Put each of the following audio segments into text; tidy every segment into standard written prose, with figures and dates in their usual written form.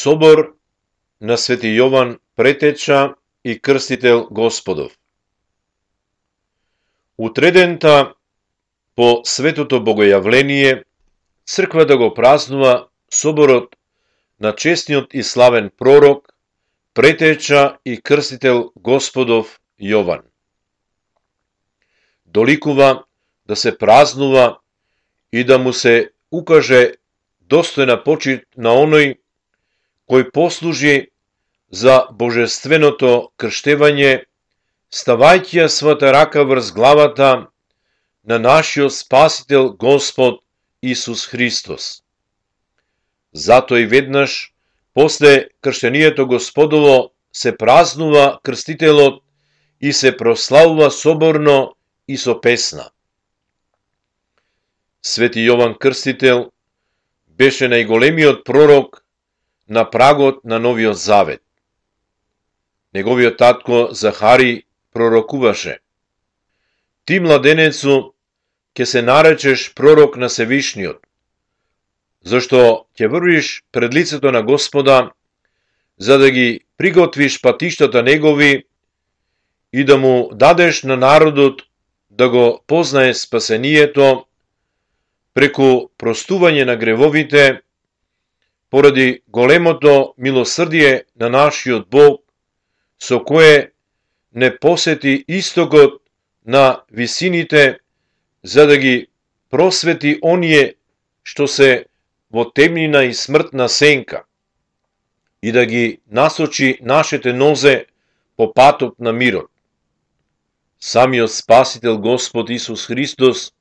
Собор на Свети Јован Претеча и Крстител Господов. Утредента по Светото Богојавление, црквата го празнува соборот на честниот и славен пророк, Претеча и Крстител Господов Јован. Доликува да се празнува и да му се укаже достојна почит на оној кој послужи за божественото крштевање, ставајќи ја својата рака врз главата на нашиот Спасител Господ Исус Христос. Зато и веднаш после крштенијето Господово се празнува крстителот и се прославува соборно и со песна. Свети Јован Крстител беше најголемиот пророк на прагот на Новиот Завет. Неговиот татко Захари пророкуваше: "Ти, младенецу, ќе се наречеш пророк на Севишниот, зашто ќе врвиш пред лицето на Господа, за да ги приготвиш патиштата негови и да му дадеш на народот да го познае спасението преку простување на гревовите, поради големото милосрдие на нашиот Бог, со кое не посети истокот на висините, за да ги просвети оние што се во темнина и смртна сенка, и да ги насочи нашите нозе по патот на мирот. Самиот Спасител Господ Исус Христос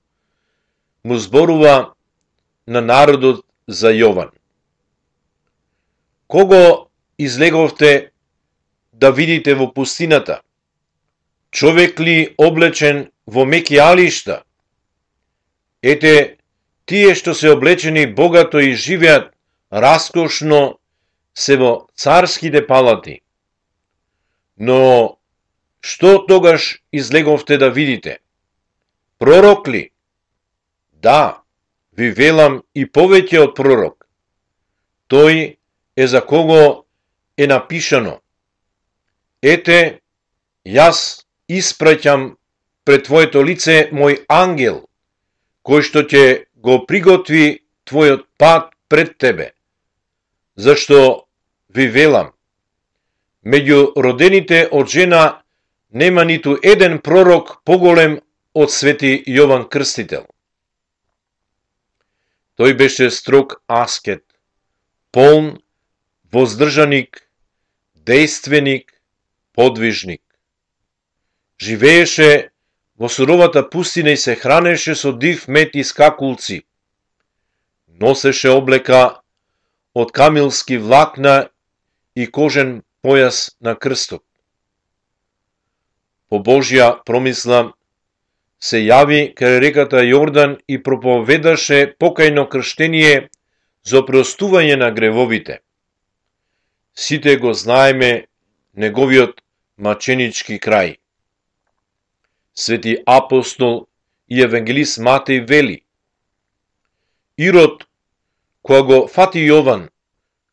му зборува на народот за Јован: "Кого излеговте да видите во пустината? Човек ли облечен во меки алишта? Ете, тие што се облечени богато и живеат раскошно се во царските палати. Но што тогаш излеговте да видите? Пророк ли? Да, ви велам, и повеќе од пророк. Тој е за кого е напишано: Ете, јас испраќам пред твоето лице мој ангел, кој што ќе го приготви твојот пат пред тебе. Зашто ви велам, меѓу родените од жена нема ниту еден пророк поголем од Свети Јован Крстител." Тој беше строг аскет, полн воздржаник, дејственик, подвижник. Живееше во суровата пустина и се хранеше со див мед и скакулци. Носеше облека од камилски влакна и кожен појас на крстот. По Божја промисла се јави кај реката Јордан и проповедаше покајно крштение за опростување на гревовите. Сите го знаеме неговиот маченички крај. Свети апостол и евангелист Матеј вели: "Ирод, кога го фати Јован,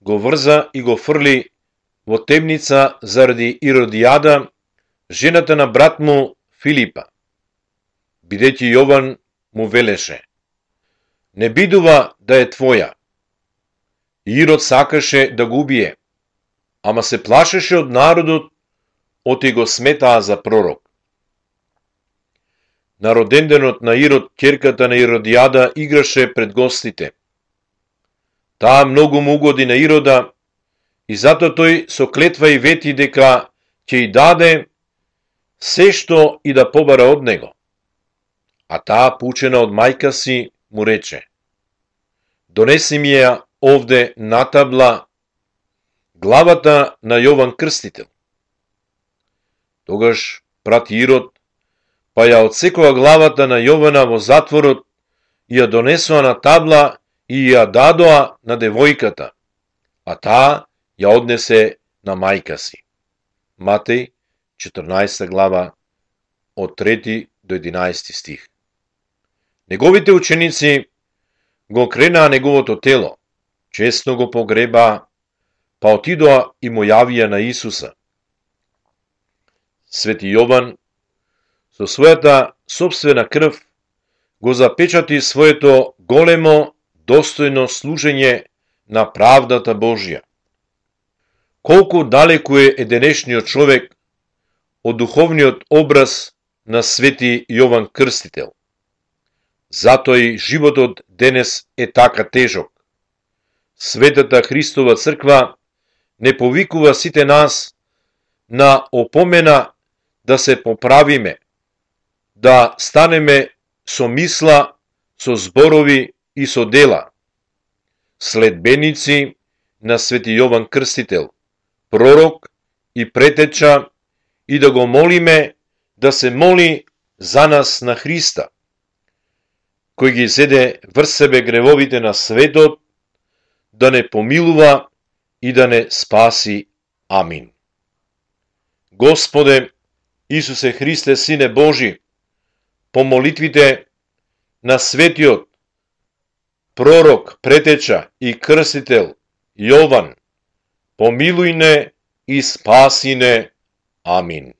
го врза и го фрли во темница заради Иродијада, жената на брат му Филипа, бидејќи Јован му велеше: не бидува да е твоја. Ирод сакаше да го убие, ама се плашеше од народот, оти го сметаа за пророк." На роденденот на Ирод, ќерката на Иродијада играше пред гостите. Таа многу му угоди на Ирода и зато тој со клетва и вети дека ќе и даде се што и да побара од него. А таа, пучена од мајка си, му рече: "Донеси ми ја овде на табла главата на Јован Крстител." Тогаш прати Ирод, па ја одсекува главата на Јована во затворот и ја донесува на табла и ја дадоа на девојката, а таа ја однесе на мајка си. Матеј, 14 глава, од 3 до 11 стих. Неговите ученици го кренаа неговото тело, честно го погребаа, па отидоа и му јавија на Исуса. Свети Јован со својата сопствена крв го запечати своето големо достојно служење на правдата Божја. Колку далеку е денешниот човек од духовниот образ на свети Јован Крстител. Затоа и животот денес е така тежок. Светата Христова црква не повикува сите нас на опомена да се поправиме, да станеме со мисла, со зборови и со дела, следбеници на свети Јован Крстител, пророк и претеча, и да го молиме да се моли за нас на Христа, кој ги зеде врз себе гревовите на светот, да не помилува и да не спаси. Амин. Господе Исусе Христе, Сине Божи, по молитвите на светиот пророк, претеча и крстител Јован, помилуј не и спаси не. Амин.